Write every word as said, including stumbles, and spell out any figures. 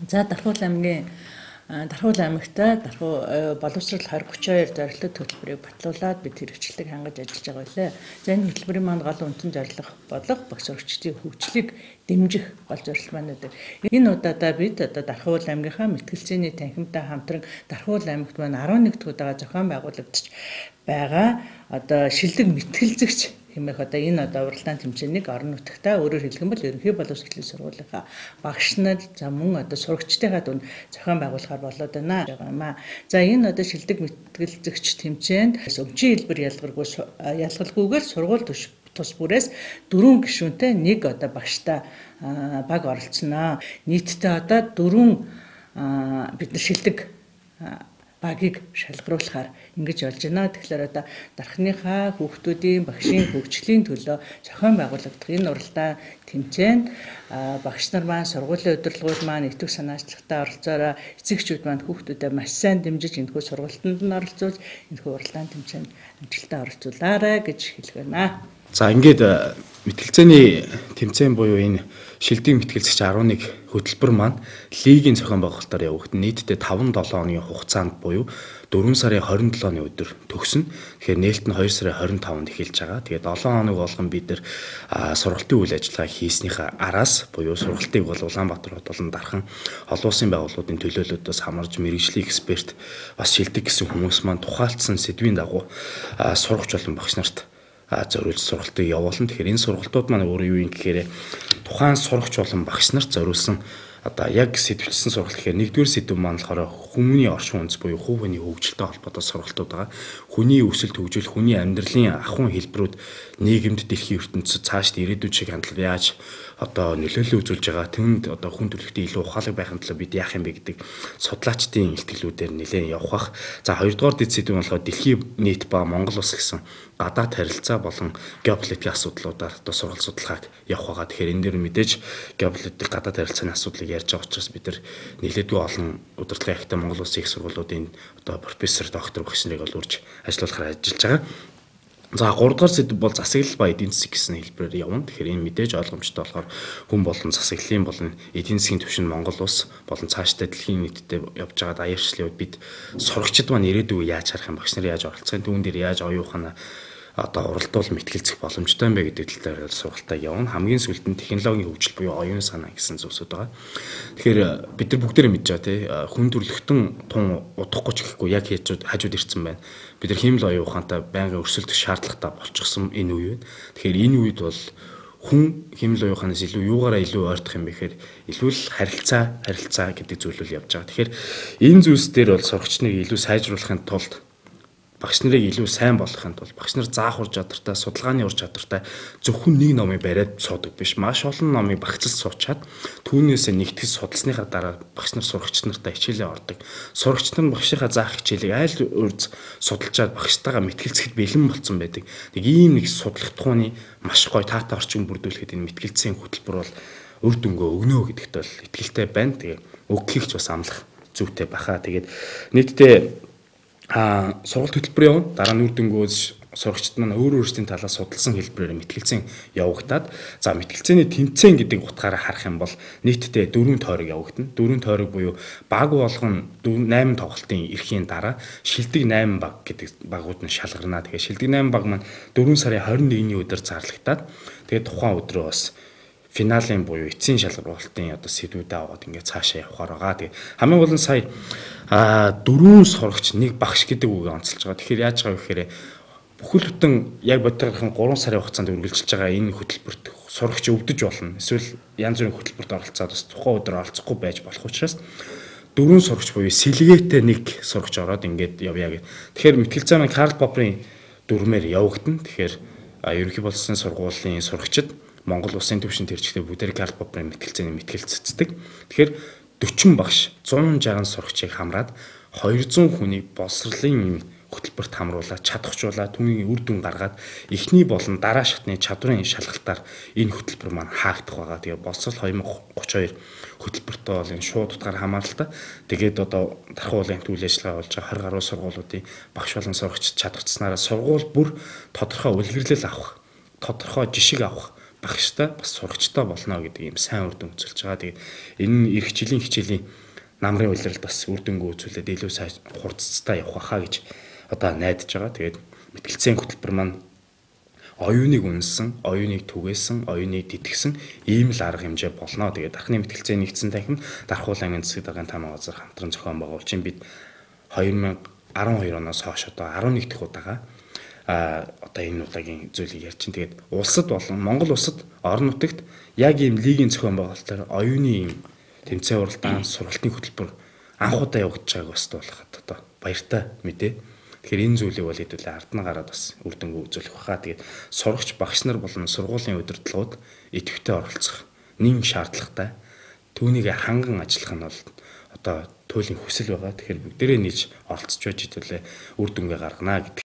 За Дархуул аймгийн Дархуул аймагта Дархуу боловсрол двадцать тридцать two зорилттой хөтөлбөрийг батлуулаад бид хэрэгжлийг хангаж ажиллаж байгаа байлаа. За энэ хөтөлбөрийн маань гол үндсэн зорилго болох багш сурагчдын хөгжлийг дэмжих гол зорилт маань үүдэг. Энэ удаадаа бид одоо Дархуул аймгийнхаа мэтгэлцээний танхимтай хамтран Дархуул аймагт маань eleven дахь удаага зохион байгуулагдаж байгаа одоо шилдэг мэтгэлзэгч хэмээх одоо энэ одоо уралдаан тэмцээнийг орон нутагтаа өөрөөр хэлэх юм бол ерөнхий боловсролын сургуулийнхаа багш нар за мөн одоо сурагчдынхаа дунд зохион байгуулахаар болоод байна байгаа юм аа. За энэ одоо шилдэг мэтгэлзэгч тэмцээнд өвчин хэлбэр ялгаргүй ялгалгүйгээр сургууль тус бүрээс дөрвөн гишүүнтэй нэг одоо багштай баг оролцсноо. Нийтдээ одоо дөрвөн бид нар шилдэг багийг шалгаруулахаар ингэж болж байна. Тэгэхээр одоо дархныхаа хүүхдүүдийн багшийн хөгжлийн төлөө зохион байгуулагдах энэ уралдаан тэмцээнд багш нар маань сургуулийн удирдлагууд маань итгэх санаачлагтай оролцоороо эцэгчүүд маань хүүхдүүдэд маш сайн дэмжиж энэхүү сургалтанд нь оролцуулж энэхүү уралдаан тэмцээнд амжилттай оролцуулаарай гэж хэлэх байна. За ингээд мэтгэлцээний тэмцээн буюу энэ шилдэг мэтгэлцэгч eleven хөтөлбөр маань лигийн зохион байгуулалтаар явагдана. Нийтдээ five seven хоногийн хугацаанд буюу four сарын twenty-seven өдөр төгснө. Тэгэхээр нээлт нь two сарын twenty-five-нд эхэлж байгаа. Тэгээд seven хоног болгон бид нэр сургалтын үйл ажиллагаа хийснийхаа араас буюу сургалтыг бол Улаанбаатар хот болон Дархан олон улсын байгууллагуудын төлөөлөлтөөс хамарж мэргэжлийн эксперт бас шилдэг гэсэн хүмүүс маань тухайлдсан сэдвийн дагуу сурагч болон багш нарт зориулж сургалтыг явуулна. Тэгэхээр энэ сургалтууд маань өөрөө юу юм гэхээр тухайн сурагч болон багш нарт зориулсан одоо яг сэдвчилсэн сургалт гэхээр нэгдүгээр сэдв маань болохоор хүмүүний оршин үндэс буюу хувь хүний хөгжилтэй холбоотой сургалтууд байгаа. Хүний өсөлт хөгжил, хүний амьдралын ахуйн хэлбэрүүд нийгэмд дэлхийн ертөнцид цаашд ирээдүйн шиг хандлага яаж одоо нөлөөлөл үзүүлж байгаа, тэнд одоо хүн төрөлхтөнд илүү ухаалаг байхын тулд бид яах юм бэ гэдэг судлаачдын илтгэлүүдээр нэлээд явах бах. За хоёрдугаар дэд сэдв нь болохоор дэлхийн нийт ба Монгол улс гэсэн гадаад харилцаа болон геополитикийн асуудлуудаар одоо сургалт судалгааг явах байгаа. Тэгэхээр энэ дээр мэдээж геополитик гадаад харилцааны асуудлыг ярьж байгаа учраас бид нар нэлээдгүй олон удирдлагын ахтай Монгол улсын их сургуулиудын одоо профессор, доктор багш нарыг бол урьж ажиллуулахаар ажиллаж байгаа. За гурав дахь сэдв бол засаглал ба эдийн засаг гэсэн хэлбэрээр явна. Тэгэхээр энэ мэдээж ойлгомжтой болохоор хүн болон засаглалын болон эдийн засгийн түвшинд Монгол улс болон цаашдаа дэлхийн нийтэд явж байгаа даяарчлалыг бид сурагчид маань ирээдүйг яаж харах юм, багш нар яаж оролцох юм, түүн дээр яаж оюухана одоо уралдуул мэтгэлцэх боломжтой юм бэ гэдэг талаар сургалтаа явна. Хамгийн сүүлд нь технологийн хөгжил буюу оюун санаа гэсэн зүйлсүүд байгаа. Тэгэхээр бид нар бүгдээрээ мэдж байгаа тий хүн төрөлхтөн тун удахгүй ч гэхгүй яг хажууд хажууд ирсэн байна. Бид нар хэмэл оюун ухаантай байнгын өрсөлдөх шаардлагатай болчихсон энэ үе байна. Тэгэхээр энэ үед бол хүн хэмэл оюун ухаанаас илүү юугаараа илүү ойртох юм бэ гэхээр илүү л харилцаа харилцаа гэдэг зүйлүүл явж байгаа. Тэгэхээр энэ зүйлс дээр бол сурагчныг илүү сайжруулахын тулд багш нарыг илүү сайн болгохын тулд багш нар заах ур чадвартай, судалгааны ур чадвартай зөвхөн нэг номыг бариад суудаг биш. Маш олон номыг багцлж суучаад түүнээс нэгтгэж судалсныхаа дараа багш нар сурагч нартай хичээлээ ордог. Сурагч нар багшийнхаа заах хичээлийг айл урьд судалжаад багштайгаа мэтгэлцэхэд бэлэн болсон байдаг. Нэг ийм нэг судлах тухайны маш гоё таатай орчин бүрдүүлэхэд энэ мэтгэлцээний хөтөлбөр бол үр дүнгээ өгнө гэдэгт бол итгэлтэй байна. Тэгээ өгөхийг ч бас амлах зүйтэй баха. Тэгээд нийтдээ А сургалт хөтөлбөр явна. Дараа нь үр дүнгөөс сурагчид маань өөр өөрсдийн талаас судалсан хэлбэрээр мэтгэлцэн явагдаад за мэтгэлцээний тэмцээн гэдэг утгаараа харах юм бол нийтдээ дөрвөн тойрог явагдана. Дөрвөн тойрог буюу баг болгон eight тоглолтын эрхийн дараа шилдэг eight баг гэдэг багууд нь шалгарна. Тэгэхээр шилдэг eight баг маань four сарын twenty-first-ний өдөр зарлагдаад тэгээд тухайн өдрөө бас финалийн буюу эцсийн шалгуулалтын одоо сэдвүүдээ аваад ингээд цаашаа явахаар байгаа. Тэгээ хамгийн гол нь сая а дөрвөн сурагч нэг багш гэдэг үгийг онцолж байгаа. Тэгэхээр яаж байгаа вэ гэхээр бүхэл бүтэн яг бодтойгын three сарын хугацаанд үргэлжилж байгаа энэ хөтөлбөрт сурагч өвдөж болно. Эсвэл янз бүрийн хөтөлбөрт оролцоод бас тухайн өдөр оролцохгүй байж болох учраас дөрвөн сурагч буюу сэлгээтэй нэг сурагч ороод ингээд явъя гэх. Тэгэхээр мэтгэлцээ маань Карл Попперийн дүрмээр явагдана. Тэгэхээр ерөнхий боловсролын сургуулийн сурагчид Монгол улсын түвшинд ирчтэй бүгдээр Карл Попперийн мэтгэлцээний мэтгэлцэцдэг. Тэгэхээр forty багш one sixty сурагчийг хамраад two hundred хүнийг боловсролын хөтөлбөрт хамруулаад чадахжуулаад түүний үр дүн гаргаад эхний болон дараа шатны чадварын шалгалтаар энэ хөтөлбөр маань хаагдах байгаа. Тэгээ боловсрол twenty thirty-two хөтөлбөртөө бол энэ шууд утгаар хамааралтай. Тэгээд одоо Дархан уулын үйл ажиллагаа болж байгаа twenty гаруй сургуулиудын багш болон сурагч чадварцснараа сургууль бүр тодорхой үлгэрлэл авах, тодорхой жишг авах багштай бас сурагчтай болно гэдэг ийм сайн үр дүн үзүүлж байгаа. Тэгээд энэ эх жилийн хичээлийн намрын улирал бас үр дүнгүй үзүүлээд илүү сайн хурцтай явах хаа гэж одоо найдаж байгаа. Тэгээд мэтгэлцээний хөтөлбөр маань оюуныг үнэлсэн, оюуныг түгээсэн, оюуныг тэтгсэн ийм л арга хэмжээ болно. Тэгээд дархны мэтгэлцээ нэгдсэн танхим Дархуул аймгийн засаг даргын таамаг газар хамтран зохион байгуулж бид две тысячи арван хоёр оноос хойш одоо арван нэг дахь удаага а одоо энэ удаагийн зүйлийг ярьж чинь. Тэгээд улсад болон Монгол улсад орон нутагт яг ийм лигийн зохион байгуулалтаар оюуны ийм тэмцээн уралдаан сургалтын хөтөлбөр анх удаа явагдаж байгааг бас болоход одоо баяртай мэдээ. Тэгэхээр энэ зүйлийг бол хэдүүлээ ардна гараад бас үр дүнгүй үзүүлэх баха. Тэгээд сурагч багш нар болон сургуулийн удирдлагууд идэвхтэй оролцох нэн шаардлагатай. Түүнийг ханган ажиллах нь бол одоо туйлын хүсэл байгаа. Тэгэхээр бүгдээрээ нийж оролцож байж хэдүүлээ үр дүнгээ гаргана гэдэг